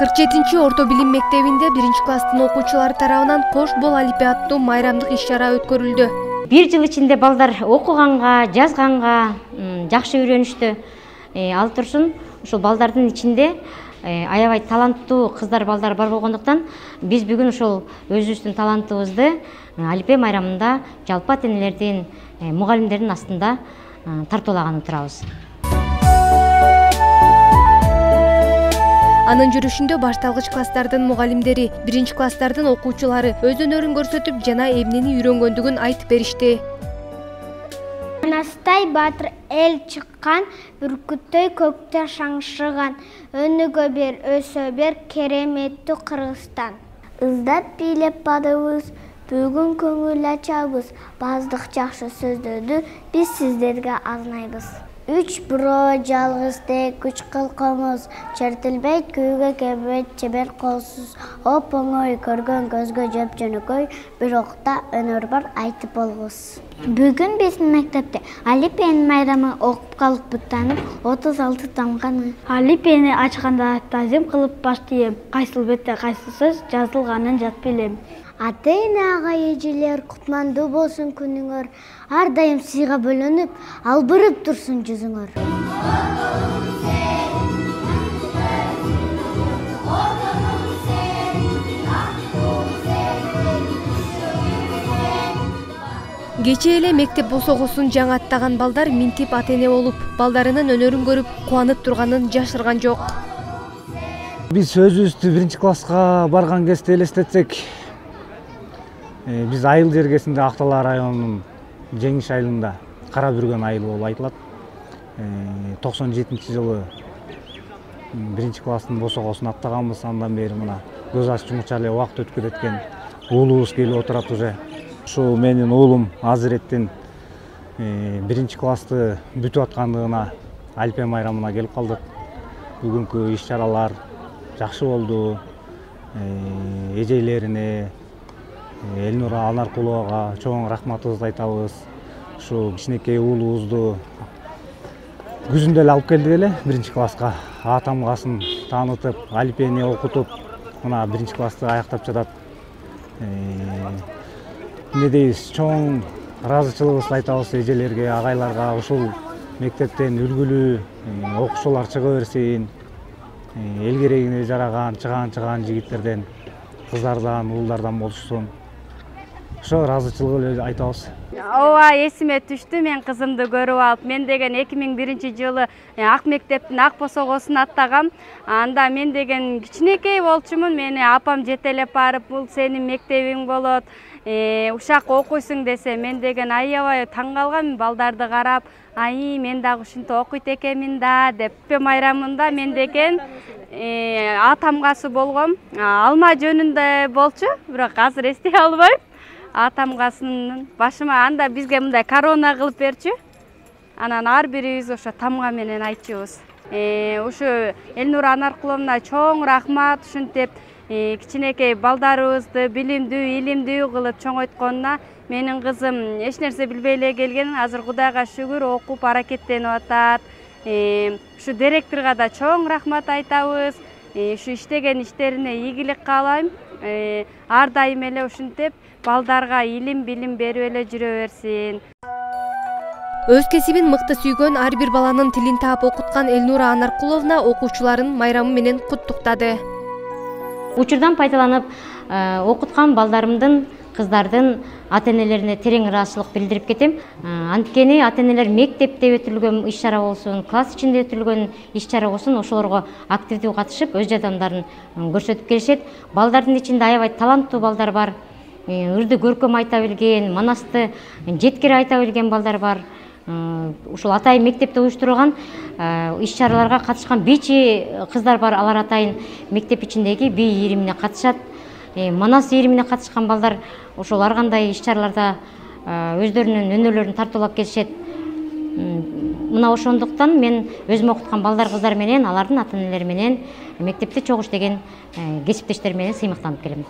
47 орто билим мектебинде 1-класстын окуучулары тарабынан кош бол алипе аттуу майрамдык иш-чара өткөрүлдү. Бир жыл ичинде балдар окуганга, жазганга жакшы үйрөнүштү. Ал турсун ушул балдардын ичинде аябай таланттуу кыздар балдар бар болгондуктан биз бүгүн ушул өзүбүздүн талантыбызды алипе майрамында жалпы ата-энелердин, мугалимдердин астында тартуулаганы турабыз. Анын жүрүшүндө башталгыч класстардын мугалимдери, 1-класстардын окуучулары өз өнөрүн көрсөтүп жана эмнени үйрөнгөндүгүн айтып беришти. Анастай батыр эл чыккан, бүркүттөй көктө шаңшыган, өнүгө бер, өсө бер, кереметтүү Кыргызстан. Издап бийлеп бадыбыз, бүгүн көңүл ачабыз, баздык жакшы сөздөрдү биз сиздерге арнайбыз. 3 бирөө жалгыздек, 3 кылкымыз, чертилбейт күйгө кебет чебер колсуз, оп оңой көргөн көзгө жөп жөнөкөй, бирок да өнөр бар айтып болгус. Бүгүн биздин мектепте алипенин майрамы окуп калыппытанып 36 тамганы. Алипени ачканда тазим кылып баштайм, кайсыл бетте кайсы сөз жазылганын жат билем. Ата-эне агай эжелер кутмандуу болсун күнүңөр, ар дайым сыйга бөлөнүп, албырып турсун жүзүңөр. Кечээ эле мектеп босогосун жаңы балдар минтип ата-эне болуп, балдарынын өнөрүн көрүп, кубанып турганын жашырган жок. Биз өзүбүздү 1-класска барган кезде элестетсек, биз айыл жергесинде Актала районунун Жеңиш айылында кара бүргөн айыл болуп айтылат. 97-жылы 1-класстын босогосун аттаганбыз, андан бери мына көз аччымыкча эле убакыт өткөн экен. Уулубуз келип отурат уже. Ушул менин уулум Азиреттин 1-классты бүтүп аткандыгына алипе майрамына келип калдык. Бүгүнкү иш-чаралар жакшы болду. Эжелерине, Элнура Анаркуловага чоң рахматыбызды айтабыз. Ушу кичинекей уулубузду күзүндө эле алып келдик эле 1-класска. Атамгасын таанытып, алипени окутуп, мына 1-классты аяктап жатат. Эмне дейбиз, чоң ыраазычылыгыбызды айтабыз эжелерге, агайларга. Ушул мектептен үлгүлүү окуучулар чыга берсин. Эл керегине жараган, чыгаан жигиттерден, кыздардан, уулдардан болушсун. Ошо ыраазычылык эле айтабыз. Ооба, эсиме түштү, мен кызымды көрүп алып, мен деген 2001-жылы Ак мектептин Ак босогосун аттагам. Анда мен деген кичинекей болчумун, мени апам жетелеп барып, бул сенин мектебиң болот, ушак окуйсуң десе, мен деген аябай таң калгам, балдарды карап, ай, мен дагы ушинтип окуйт экенмин да деп. Майрамында мен деген атамгасы болгом, алма жөнүндө болчу, бирок азыр эстей албайм. Атамгасынын башыма анда бизге мындай корона кылып берчү. Анан ар бирибиз ошо тамга менен айтчубуз. Ушу Элнура Анаркуловна чоң рахмат, ушинтип кичинекей балдарыбызды билимдүү, илимдүү кылып чоңойтконуна. Менин кызым эч нерсе билбей эле келген, азыр Кудайга шүгүр окуп аракеттенип атат. Ушу директорго да чоң рахмат айтабыз. Ушу иштеген иштерине ийгилик каалайм. Ар дайым эле ушинтип балдарга илим, билим берип эле жүрө берсин. Өз кесибин мыкты сүйгөн ар бир баланын тилин таап окуткан Элнура Анаркуловна окуучуларын майрамы менен куттуктады. Учурдан пайдаланып, окуткан балдарымдын, кыздардын ата-энелерине терең ыраазычылык билдирип кетем. Анткени ата-энелер мектепте өтүлгөн иш-чара болсун, класс ичинде өтүлгөн иш-чара болсун, ошолорго активдүү катышып, өз жардамдарын көрсөтүп келишет. Балдардын ичинде аябай таланттуу балдар бар. Ырды көркөм айта билген, манасты жеткире айта билген балдар бар. Ушул атайын мектепте уюштурулган иш-чараларга катышкан бийчи кыздар бар. Алар атайын мектеп ичиндеги бий ийримине катышат. Манас ийримине катышкан балдар ошол ар кандай иш-чараларда өздөрүнүн өнөрлөрүн тартуулап келишет. Мына ошондуктан мен өзүм окуткан балдар кыздар менен, алардын ата-энелери менен мектепте чогуу иштеген кесиптештер менен сыймыктанып келем.